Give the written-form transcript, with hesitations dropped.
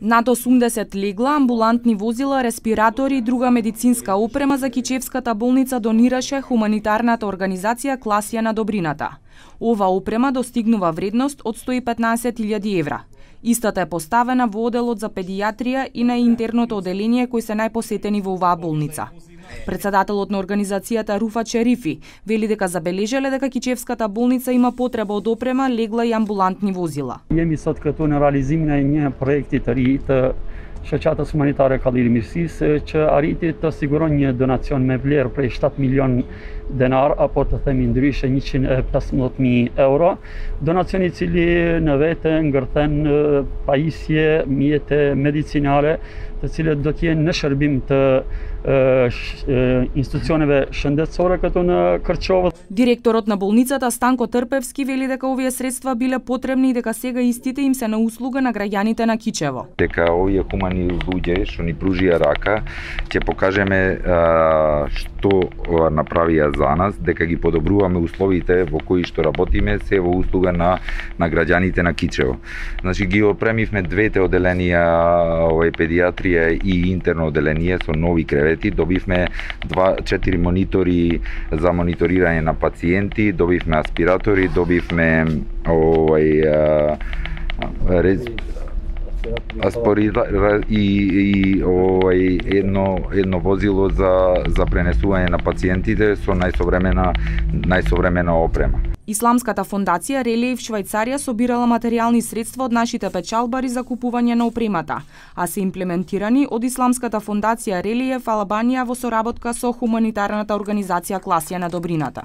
Над 80 легла, амбулантни возила, респиратори и друга медицинска опрема за Кичевската болница донираше хуманитарната организација Класија на добрината. Ова опрема достигнува вредност од 115.000 евра. Истата е поставена во оделот за педијатрија и на интерното оделение кои се најпосетени во оваа болница. Председателот на организацијата Руфа Черифи вели дека забележале дека Кичевската болница има потреба од опрема, легла и амбулантни возила. Jemi sot këtu në realizimin e një projekti të ri të shoqatës humanitare Kalliri Mirësisë që arriti të siguron një donacion me vlerë prej 7 milion denar apo të themi ndryshe 115.000 euro. Donacioni I cili në vete ngërthen pajisje, mjete medicinale të cilët do të jenë në shërbim të институционeve shëndetësore këtu në Kërçovë. Директорот на болницата Станко Трпевски вели дека овие средства биле потребни и дека сега истите им се на услуга на граѓаните на Кичево. Дека овие хумани луѓе што ни пружија рака, ќе покажеме што направија за нас, дека ги подобруваме условите во кои што работиме, се во услуга на граѓаните на Кичево. Значи ги опремивме двете оделенија, педијатрија и интерно оделение со нови кревети. Добивме 4 монитори за мониторирање на пациенти, добивме аспиратори, добивме едно возило за пренесување на пациентите со најсовремена опрема. Исламската фондација Релиев Швајцарија собирала материјални средства од нашите печалбари за купување на опремата, а се имплементирани од Исламската фондација Релиев Албанија во соработка со хуманитарната организација Класија на добрината.